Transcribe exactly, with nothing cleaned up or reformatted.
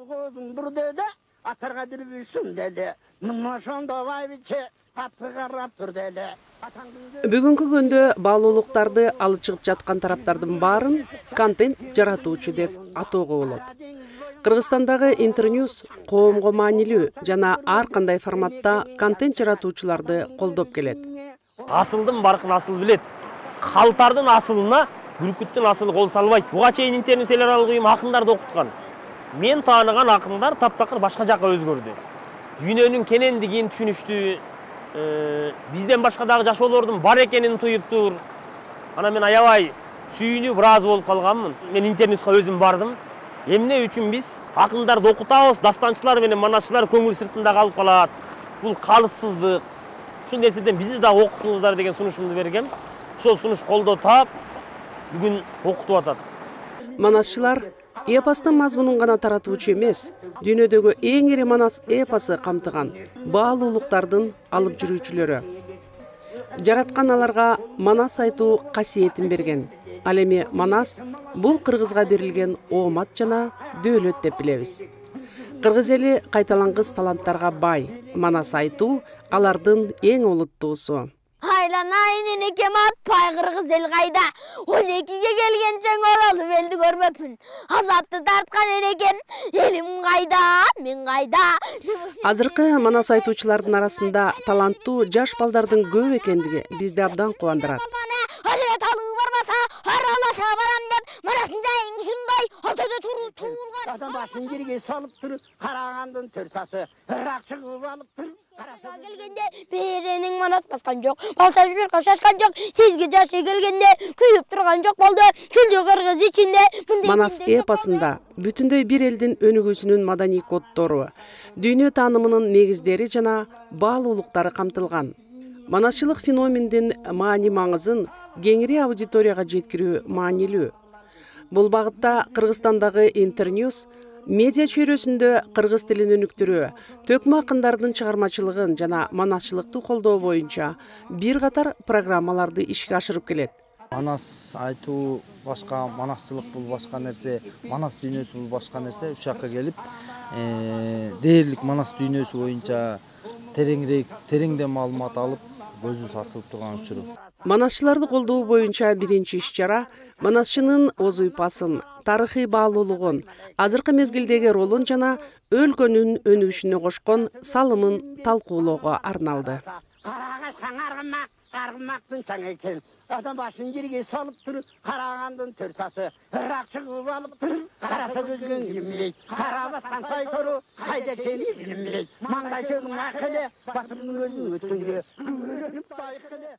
колгоодун бурдеде атарга дирбүсүн деле. Мыношондо байбиче атты карап тур деле. Бүгүнкү күндө баалуулуктарды алып чыгып жаткан тараптардын баарын контент жаратуучу деп атоого болот. Кыргызстандагы Интерньюз коомго маанилүү жана ар кандай форматта контент жаратуучуларды колдоп келет. Асылдын баркын асыл билет. Калтардын асылына бүркүттүн асылы кол салбайт. Буга чейин Интерньюз эл аралык уюм акындарды окуткан. Мен тааныган акындар таптакыр башка жакка өзгөрдү. Дүйнөнүн кенендигин түшүнүштү. Бизден башка дагы жашоолордун бар экенин туюптур. Ана мен аябай сүйүнүп ыраазы болуп калганмын. Мен Интерньюзга өзүм бардым. Эмне үчүн биз акындарды окутабыз, дастанчылар менен манасчылар көңүл сыртында калып калат. Бул калыпсыздык. Ушул нерседен бизди дагы окутуңуздар деген сунушумду бергем. Ошол сунуш колдоо таап, бүгүн окутуп атат. Манасчылар эпостун мазмунун гана таратуучу эмес, дүйнөдөгү эң ири манас эпосы камтыган баалуулуктардын алып жүрүүчүлөрү. Жараткан аларга манас айтуу касиетин берген. Ал эми манас бул кыргызга берилген оомат жана дөөлөт деп билебиз. Кыргыз эли кайталангыс таланттарга бай. Манас айтуу алардын эң олуттуусу. Айланайын энекем атпай кыргыз эл кайда? он экиге келгенчең оралып элди көрмөпмүн. Азапты тарткан энекем, элим кайда, мен кайда? Азыркы манас айтуучулардын арасында таланттуу жаш балдардын көп экендиги бизди абдан кубандырат. Ажыраталуу барбаса, аралаша барам деп, манасын жайың ушундай ортодо туруп туулган. Адам башын жерге салып туруп, карагандын төрт аты ырак чыгып алып туруп. Келгенде беренин манас баскан жок, балта жиберка шашкан жок, сизге жашы келгенде күйүп турган жок болду, күлдү кыргыз ичинде. Манас эпосунда бүтүндөй бир элдин өнүгүүсүнүн маданий коддору, дүйнө таанымынын негиздери жана баалуулуктары камтылган. Манасчылык феномендин маани маңызын кеңири аудиторияга жеткирүү маанилүү. Бул багытта Кыргызстандагы Интерньюз медиа чөйрөсүндө кыргыз тилин өнүктүрүү, төкмө акындардын чыгармачылыгын жана манасчылыкты колдоо боюнча бир катар программаларды ишке ашырып келет. Манас айтуу башка, манасчылык бул башка нерсе, манас дүйнөсү бул башка нерсе. Уш жакка келип, дээрлик манас дүйнөсү боюнча тереңирээк, тереңден маалымат алып, көзүбүз ачылып турган учуру. Манасчыларды колдоо боюнча биринчи иш-чара манасчынын оз уйпасын, тарыхый баалуулугун, азыркы мезгилдеги ролун жана өлкөнүн өнүгүшүнө кошкон салымын талкуулоого арналды. Аргымактын чаң экен. Адам башын жерге салып туруп, карагандын төрт аты ырак чыгып алып туруп, караса көзгөн билмейт. Карабастан сайтору кайда экени билмейт. Маңдай чөгүн акылы, батырдын көзүн өткөнгө, көрүнүп байкылы.